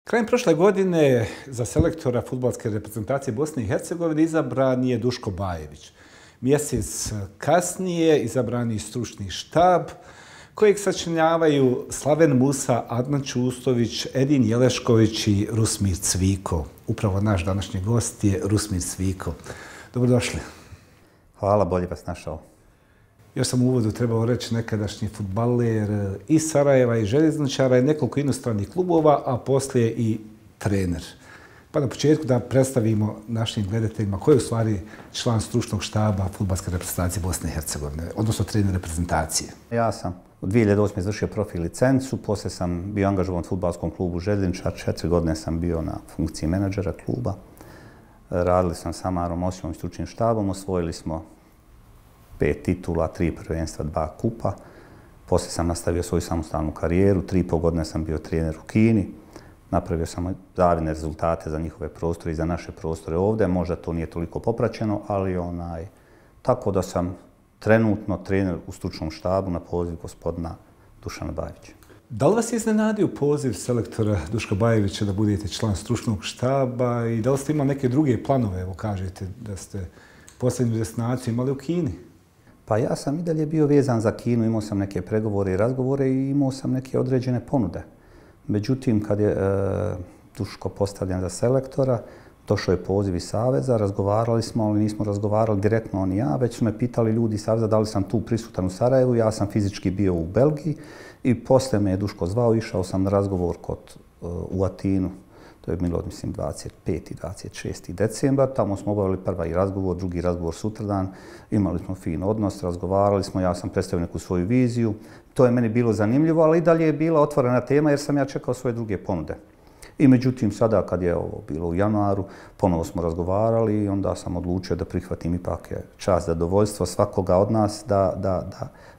Krajem prošle godine za selektora fudbalske reprezentacije Bosne i Hercegovine izabran je Duško Bajević. Mjesec kasnije izabran je stručni štab kojeg sačinjavaju Slaven Musa, Adnan Čustović, Edin Jelešković i Rusmir Cviko. Upravo naš današnji gost je Rusmir Cviko. Dobrodošli. Hvala, bolje vas našao. Još sam u uvodu trebao reći nekadašnji fudbaler iz Sarajeva i željezničara i nekoliko inostranih klubova, a poslije i trener. Pa na početku da predstavimo našim gledateljima ko je u stvari član stručnog štaba fudbalske reprezentacije Bosne i Hercegovine, odnosno trener reprezentacije. Ja sam u 2008. izvršio profil licencu, poslije sam bio angažovan u fudbalskom klubu Željezničar, 4 godine sam bio na funkciji menadžera kluba. Radili sam sa Amarom Osijom i stručnim štabom, osvojili smo 5 titula, 3 prvenstva, 2 kupa. Poslije sam nastavio svoju samostalnu karijeru, 3,5 godine sam bio trener u Kini. Napravio sam zavidne rezultate za njihove prostore i za naše prostore ovdje. Možda to nije toliko popraćeno, ali tako da sam trenutno trener u stručnom štabu na poziv gospodina Dušana Bajevića. Da li vas je iznenadio poziv selektora Duška Bajevića da budete član stručnog štaba i da li ste imali neke druge planove? Evo kažete da ste posljednju destinaciju imali u Kini. Pa ja sam i dalje bio vezan za Kinu, imao sam neke pregovore i razgovore i imao sam neke određene ponude. Međutim, kad je Duško postavljen za selektora, došao je poziv iz Saveza, razgovarali smo, ali nismo razgovarali direktno on i ja, već su me pitali ljudi iz Saveza da li sam tu prisutan u Sarajevu, ja sam fizički bio u Belgiji i poslije me je Duško zvao, išao sam na razgovor u Atinu. To je bilo, mislim, 25. i 26. decembar. Tamo smo obavili prvi razgovor, drugi razgovor sutradan. Imali smo fin odnos, razgovarali smo, ja sam predstavio neku svoju viziju. To je meni bilo zanimljivo, ali i dalje je bila otvorena tema jer sam ja čekao svoje druge ponude. I međutim, sada kad je ovo bilo u januaru, ponovo smo razgovarali i onda sam odlučio da prihvatim ipak čast, zadovoljstvo svakoga od nas da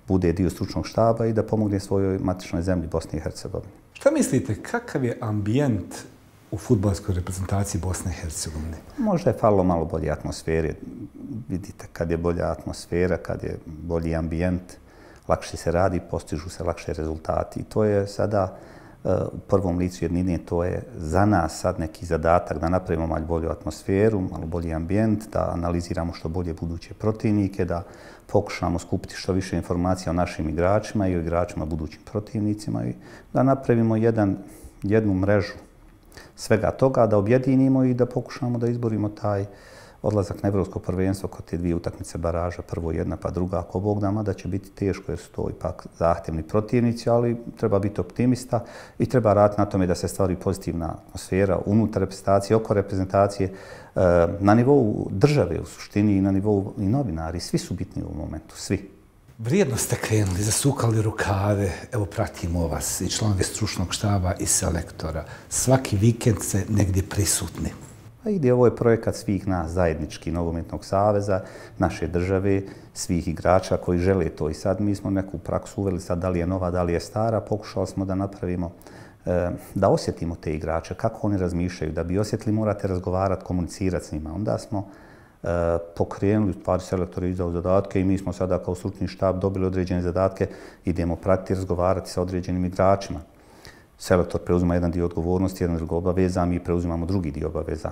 bude dio stručnog štaba i da pomogne svojoj matičnoj zemlji Bosni i Hercegovini. Šta mislite, kakav je ambijent u fudbalskoj reprezentaciji Bosne i Hercegovine? Možda je falilo malo bolje atmosfere. Vidite, kad je bolja atmosfera, kad je bolji ambijent, lakše se radi, postižu se lakše rezultati. I to je sada u prvom licu jednine, to je za nas sad neki zadatak da napravimo malo bolju atmosferu, malo bolji ambijent, da analiziramo što bolje buduće protivnike, da pokušamo skupiti što više informacija o našim igračima i o igračima budućim protivnicima i da napravimo jednu mrežu svega toga, da objedinimo i da pokušamo da izborimo taj odlazak na evropsko prvenstvo kod te dvije utakmice baraža, prvo jedna pa druga, ako Bog da, mada će biti teško jer su to ipak zahtjevni protivnici, ali treba biti optimista i treba raditi na tome da se stvori pozitivna atmosfera unutar reprezentacije, oko reprezentacije, na nivou države u suštini i na nivou i novinari. Svi su bitni u ovom momentu, svi. Vrijedno ste krenuli, zasukali rukave, evo pratimo vas i članovi stručnog štaba i selektora. Svaki vikend ste negdje prisutni. Ovo je projekat svih nas, zajednički Nogometnog saveza, naše države, svih igrača koji žele to. I sad mi smo neku praksu uveli, sad da li je nova, da li je stara, pokušali smo da napravimo, da osjetimo te igrače, kako oni razmišljaju. Da bi osjetili morate razgovarati, komunicirati s njima. Onda smo pokrenuli, u stvari selektor je izdao zadatke i mi smo sada kao stručni štab dobili određene zadatke, idemo pratiti, razgovarati sa određenim igračima. Selektor preuzima jedan dio odgovornosti, jedan drugo obaveza, mi preuzimamo drugi dio obaveza.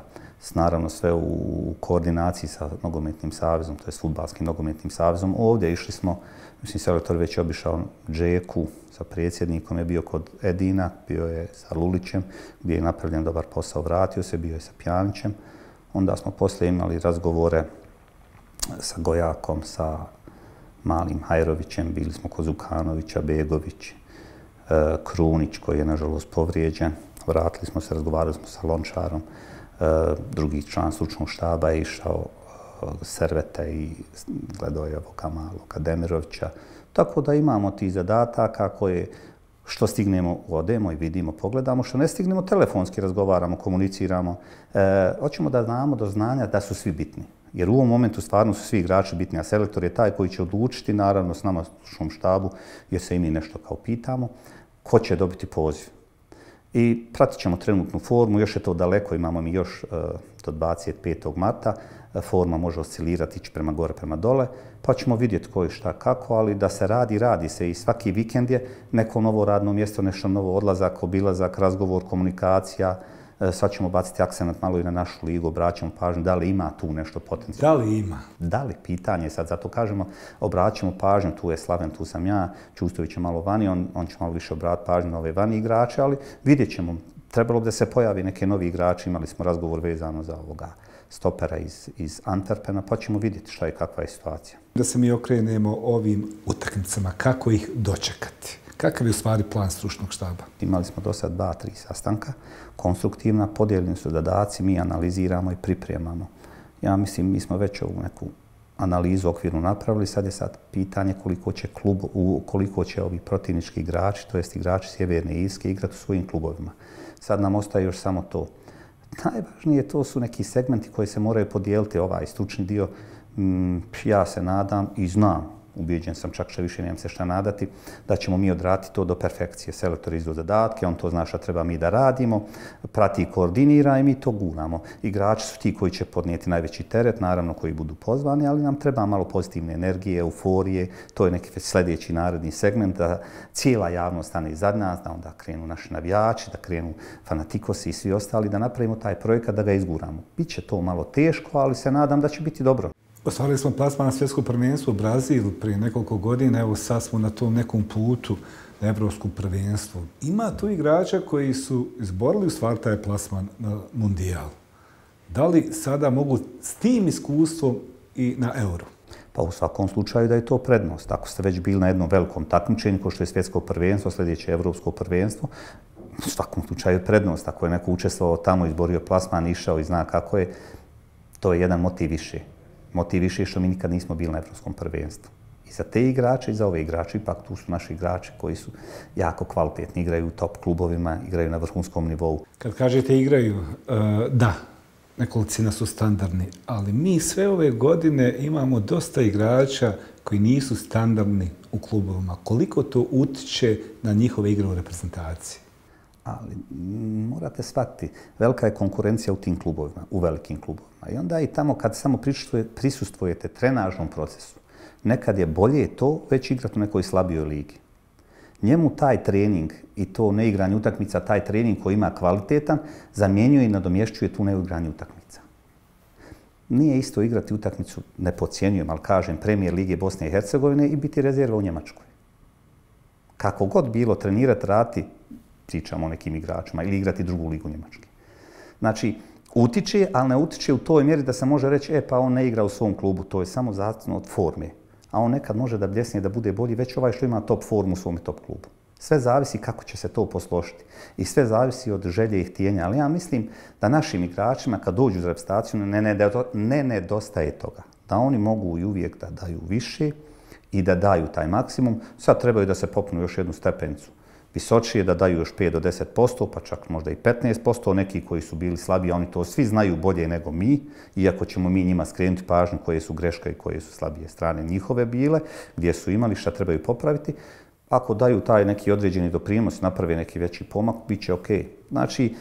Naravno sve u koordinaciji sa Nogometnim savezom, to je s Fudbalskim nogometnim savezom. Ovdje išli smo, mislim, selektor već je obišao Džeku sa predsjednikom, je bio kod Edina, bio je sa Lulićem, gdje je napravljen dobar posao, vratio se, bio je sa Pjanićem. Onda smo poslije imali razgovore sa Gojakom, sa Malim Hajrovićem, bili smo kod Zukanovića, Begović, Krunić koji je nažalost povrijeđen. Vratili smo se, razgovarali smo sa Lončarom. Drugi član stručnog štaba je išao Servete i gledao je ovoga Maloga Demirovića. Tako da imamo ti zadataka koje što stignemo odemo i vidimo, pogledamo, što ne stignemo telefonski razgovaramo, komuniciramo. Hoćemo da znamo do znanja da su svi bitni. Jer u ovom momentu stvarno su svi igrači bitni, a selektor je taj koji će odlučiti, naravno s nama u stručnom štabu, jer se i mi nešto kao pitamo, ko će dobiti poziv. I pratit ćemo trenutnu formu, još je to daleko, imamo mi još do 25. marta. forma može oscilirati, ići prema gore, prema dole, pa ćemo vidjeti ko je šta kako, ali da se radi se i svaki vikend je neko novo radno mjesto, nešto novo, odlazak, obilazak, razgovor, komunikacija. Sad ćemo baciti akcent malo i na našu ligu, obraćamo pažnju da li ima tu nešto potencijalno. Da li ima? Da li, pitanje sad, zato kažemo, obraćamo pažnju, tu je Slaven, tu sam ja, Čustović je malo vani, on će malo više obratiti pažnju na ove vani igrače, ali vidjet ćemo. Trebalo bi da se pojavi neki novi igrači, imali smo razgovor vezano za ovoga stopera iz Antwerpena, pa ćemo vidjeti šta je kakva je situacija. Da se mi okrenemo ovim utakmicama, kako ih dočekati? Kakav je u stvari plan stručnog štaba? Imali smo do sad 2-3 sastanka, konstruktivna, podijeljeni su zadaci, mi analiziramo i pripremamo. Ja mislim, mi smo već ovu neku analizu okvirnu napravili, sad je pitanje koliko će ovi protivnički igrači, to jest igrači Sjeverne Irske, igrati u svojim klubovima. Sad nam ostaje još samo to. Najvažnije to su neki segmenti koji se moraju podijeliti, ovaj stručni dio. Ja se nadam i znam, ubijeđen sam, čak što više nemam se šta nadati, da ćemo mi odraditi to do perfekcije. Selektor izdao zadatke, on to zna šta treba mi da radimo, prati i koordinira i mi to guramo. Igrači su ti koji će podnijeti najveći teret, naravno koji budu pozvani, ali nam treba malo pozitivne energije, euforije, to je neki sljedeći naredni segment, da cijela javnost stane iza nas, da onda krenu naši navijači, da krenu fanatikosi i svi ostali, da napravimo taj projekat, da ga izguramo. Biće to malo teško, ali se nadam da će biti dobro. Ostvarili smo plasman na svjetsko prvenstvo u Brazilu prije nekoliko godina, evo sad smo na tom nekom putu na evropskom prvenstvu. Ima tu igrača koji su izborili u stvari taj plasman na Mundijal. Da li sada mogu s tim iskustvom i na Euro? Pa u svakom slučaju da je to prednost. Ako ste već bili na jednom velikom takmičenju, kao što je svjetsko prvenstvo, sljedeće evropsko prvenstvo, u svakom slučaju je prednost. Ako je neko učestvovao tamo, izborio plasman, išao i zna kako je, to je jedan motiv više. Motiv više što mi nikad nismo bili na evropskom prvenstvu. I za te igrače i za ove igrače, ipak tu su naši igrači koji su jako kvalitetni, igraju u top klubovima, igraju na vrhunskom nivou. Kad kažete igraju, da, nekolicina su standardni, ali mi sve ove godine imamo dosta igrača koji nisu standardni u klubovima. Koliko to utiče na njihove igre u reprezentaciji? Ali morate shvatiti, velika je konkurencija u tim klubovima, u velikim klubovima. I onda i tamo kad samo prisustvujete trenažnom procesu, nekad je bolje to već igrati u nekoj slabijoj ligi. Njemu taj trening i to neigranje utakmica, taj trening koji ima kvalitetan, zamjenjuje i nadomješćuje tu neigranje utakmica. Nije isto igrati utakmicu, ne podcjenjujem, ali kažem, Premijer Lige Bosne i Hercegovine i biti rezerva u Njemačkoj. Kako god bilo, trenirati, raditi, pričamo o nekim igračima, ili igrati drugu ligu Njemačke. Znači, utiče, ali ne utiče u toj mjeri da se može reći, pa on ne igra u svom klubu, to je samo zavisno od forme. A on nekad može da bljesne, da bude bolji, već ovaj što ima top formu u svom top klubu. Sve zavisi kako će se to posložiti. I sve zavisi od želje i htjenja. Ali ja mislim da našim igračima, kad dođu za reprezentaciju, ne nedostaje toga. Da oni mogu i uvijek da daju više i da daju taj maksimum. Sad trebaju da se popnu još jednu stepenicu visočije, da daju još 5 do 10%, pa čak možda i 15%. Neki koji su bili slabiji, oni to svi znaju bolje nego mi, iako ćemo mi njima skrenuti pažnju koje su greške i koje su slabije strane njihove bile, gdje su imali, šta trebaju popraviti. Ako daju taj neki određeni doprinos, naprave neki veći pomak, bit će ok. Znači,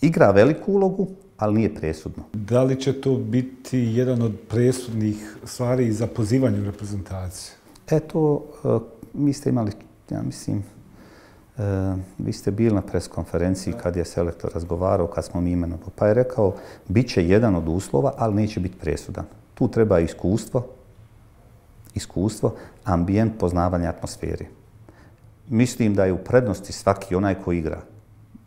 igra veliku ulogu, ali nije presudno. Da li će to biti jedan od presudnih stvari za pozivanje u reprezentaciju? Eto, mi ste imali, ja mislim, vi ste bili na preskonferenciji kad je selektor razgovarao, kad smo mi imenovali, pa je rekao, bit će jedan od uslova, ali neće biti presudan. Tu treba iskustvo, ambijent, poznavanje atmosfere. Mislim da je u prednosti svaki onaj ko igra,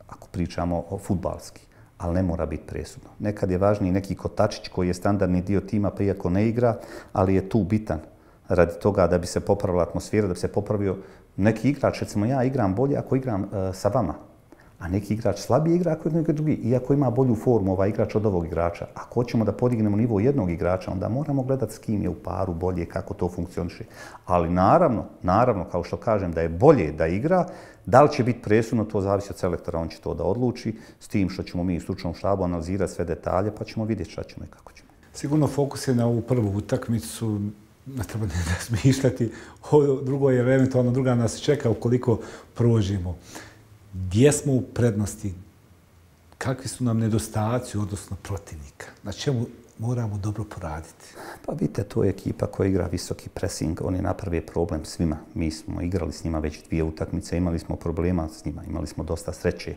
ako pričamo o fudbalski, ali ne mora biti presudno. Nekad je važniji neki kotačić koji je standardni dio tima, pa iako ne igra, ali je tu bitan radi toga da bi se popravila atmosfera, da bi se popravio neki igrač. Recimo, ja igram bolje ako igram sa vama, a neki igrač slabije igra ako je neki drugi, iako ima bolju formu ovaj igrač od ovog igrača. Ako hoćemo da podignemo nivo jednog igrača, onda moramo gledati s kim je u paru bolje, kako to funkcioniše. Ali naravno, kao što kažem, da je bolje da igra, da li će biti presudno, to zavisi od selektora, on će to da odluči, s tim što ćemo mi u stručnom štabu analizirati sve detalje, pa ćemo vidjeti šta ćemo i kako ćemo. Sigurno fokus je na ovu prvu utakmicu, ne treba ne razmišljati, ovo drugo je eventualno druga nas čeka ukoliko prođemo. Gdje smo u prednosti? Kakvi su nam nedostaci odnosno protivnika? Na čemu moramo dobro poraditi? Pa vidite, to je ekipa koja igra visoki pressing. Oni naprave problem svima. Mi smo igrali s njima već 2 utakmice, imali smo problema s njima, imali smo dosta sreće.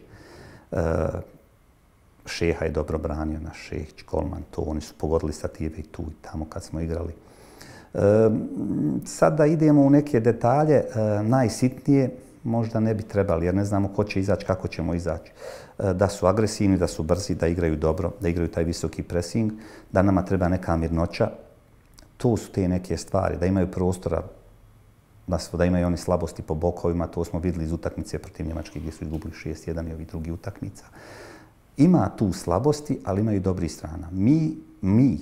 Šeha je dobro branio, naš Šehić, golman, to oni su pogodili stative i tu i tamo kad smo igrali. Sad da idemo u neke detalje, najsitnije možda ne bi trebali, jer ne znamo ko će izaći, kako ćemo izaći. Da su agresivni, da su brzi, da igraju dobro, da igraju taj visoki pressing, da nama treba neka mirnoća. To su te neke stvari, da imaju prostora, da imaju oni slabosti po bokovima, to smo vidjeli iz utakmice protiv Njemačke gdje su izgubili 6-1 i ovih drugih utakmica. Ima tu slabosti, ali imaju dobrih strana.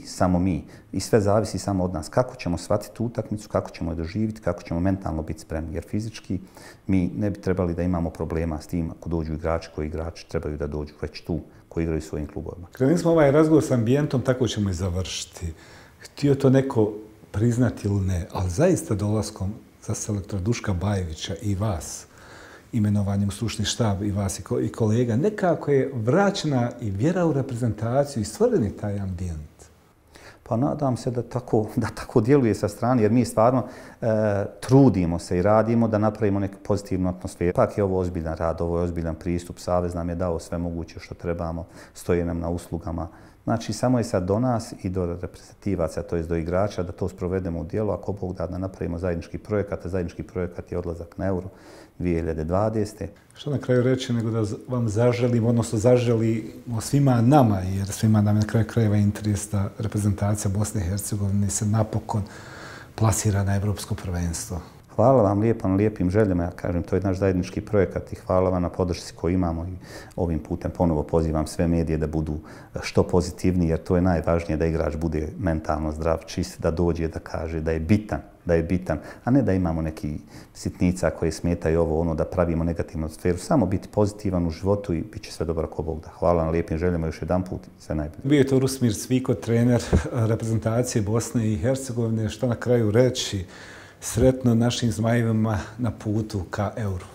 Samo mi. I sve zavisi samo od nas. Kako ćemo shvatiti tu utakmicu, kako ćemo je doživjeti, kako ćemo mentalno biti spremni. Jer fizički mi ne bi trebali da imamo problema s tim ako dođu igrači koji igrači trebaju da dođu već tu, koji igraju svojim klubovima. Krenuli smo ovaj razgovor s ambijentom, tako ćemo i završiti. Htio to neko priznati ili ne, ali zaista dolaskom za selektora Duška Bajevića i vas, imenovanjem u stručni štab i vas i kolega, nekako je vraćena i vjera u reprezentaciju i stvoreni taj ambijent. Pa nadam se da tako djeluje sa strane, jer mi stvarno trudimo se i radimo da napravimo neku pozitivnu atmosferu. Ipak je ovo ozbiljan rad, ovo je ozbiljan pristup. Savez nam je dao sve moguće što trebamo, stoji nam na uslugama. Znači, samo je sad do nas i do reprezentativaca, to je do igrača, da to sprovedemo u djelo, ako Bog da napravimo zajednički projekat, a zajednički projekat je odlazak na Euro 2020. Što na kraju reći nego da vam zaželimo, odnosno zaželimo svima nama, jer svima nam je na kraju krajeva interes da reprezentacija Bosne i Hercegovine se napokon plasira na Evropsko prvenstvo. Hvala vam lijepo na lijepim željama. Ja kažem, to je naš zajednički projekat i hvala vam na podršci koju imamo i ovim putem ponovo pozivam sve medije da budu što pozitivniji, jer to je najvažnije da igrač bude mentalno zdrav, čist, da dođe da kaže da je bitan, a ne da imamo neki sitnica koje smetaju ovo, ono, da pravimo negativnu atmosferu. Samo biti pozitivan u životu i bit će sve dobro ako Bog da. Hvala na lijepim željama još jedan put i sve najbolje. Bio je to Rusmir Cviko, trener reprezentacije Bosne i Hercegovine. Što na kraju reći? Sretno našim zmajevima na putu ka Euru.